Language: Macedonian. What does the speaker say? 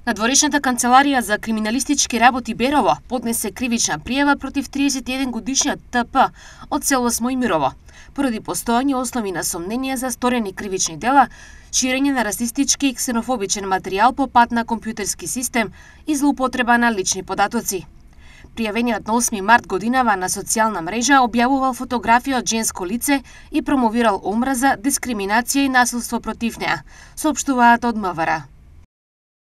Надворешната канцеларија за криминалистички работи Берово поднесе кривична пријава против 31 годишниот ТП од село Смојмирово, поради постоење основи на сомнение за сторени кривични дела, ширење на расистички и ксенофобичен материјал по пат на компјутерски систем и злоупотреба на лични податоци. Пријавениот на 8 март годинава на социјална мрежа објавувал фотографија од женско лице и промовирал омраза, дискриминација и насилство против неа, соопштуваат од МВР.